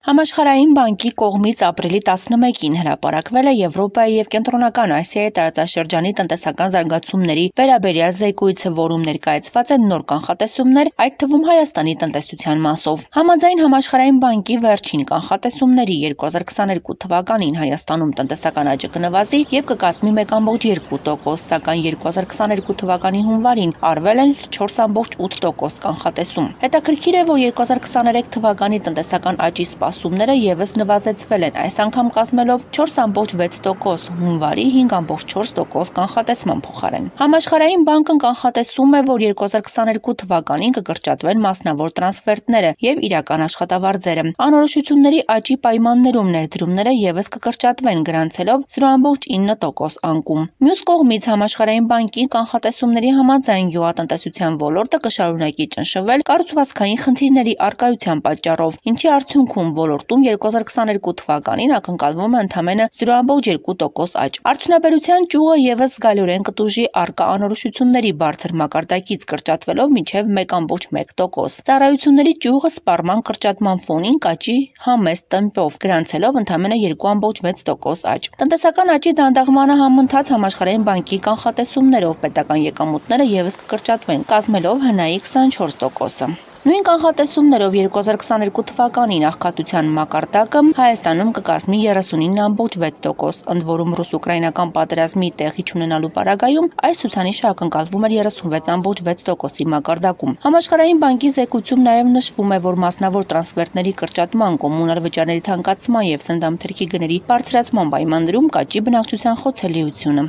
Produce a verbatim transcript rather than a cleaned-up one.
Համաշխարհային բանկի կողմից ապրիլի տասնմեկին հրապարակվել է Եվրոպայի և Կենտրոնական Ասիայի տարածաշրջանի տնտեսական զարգացումների վերաբերյալ զեկույցը, որում ներկայացված են նոր կանխատեսումներ, այդ թվում Հայաստանի տնտեսության մասով։ Համաձայն Համաշխարհային բանկի վերջին կանխատեսումների երկու հազար քսաներկու թվականին Հայաստանում տնտեսական աճը կնվազի և կկազմի մեկ ամբողջ երկու տոկոս, սակայն երկու հազար քսաներկու թվականի հունվարին արվել են չորս ամբողջ ութ տոկոս կանխատեսում։ Հետաքրքիր է, որ երկու հազար քսաներեք թվականի տնտեսական աճի սպասումները ևս նվազեցվել են, այս անգամ կազմելով չորս ամբողջ վեց տոկոս, հունվարի հինգ ամբողջ չորս տոկոս կանխատեսման փոխարեն։ Համաշխարհային բանկն կանխատեսում է, որ երկու հազար քսաներկու թվականին կկրճատվեն մասնավոր տրանսֆերտները և իրական աշխատավարձերը։ Անորոշությունների աճի պայմաններում ներդրումները ևս կկրճատվեն, գրանցելով զրո ամբողջ ինը տոկոս անկում։ Մյուս կողմից Համաշխարհային բանկի կանխատեսումների համաձայն գյուղատնտեսության ոլորտը կշարունակի ճնշվել կառուցվածքային խնդիրների առկայության պատճառով, ինչի արդյունքում ոլորտում երկու հազար քսաներկու թվականին ակնկալվում է ընդամենը զրո ամբողջ երկու տոկոս աճ։ Արդյունաբերության ճյուղը ևս զգալիորեն կտուժի առկա անորոշությունների բարձր մակարդակից, կրճատվելով մինչև մեկ ամբողջ մեկ տոկոս։ Ծառայությունների ճյուղը սպառման կրճատման ֆոնին կաճի համեստ տեմպով, գրանցելով ընդամենը երկու ամբողջ վեց տոկոս աճ։ Տնտեսական աճի դանդաղմանը համընթաց Համաշխարհային բանկի կանխատեսումներով պետական եկամուտները ևս կկրճատվեն, կազմելով հնայի քսանչորս տոկոսը։ Նույն կանխատեսումներով երկու հազար քսաներկու թվականին աղքատության մակարդակը Հայաստանում կկազմի երեսունինը ամբողջ վեց տոկոս, ընդ որում ռուս-ուկրաինական պատերազմի տեղի չունենալու պարագայում այս ցուցանիշը ակնկալվում էր երեսունվեց ամբողջ վեց տոկոսի մակարդակում։ Համաշխարհային բանկի զեկույցում նաև նշվում է, որ մասնավոր տրանսֆերտների կրճատման, կոմունալ վճարների թանկացման և սննդամթերքի գների բարձրացման պայմաններում կաճի բնակչության խոցելիությունը։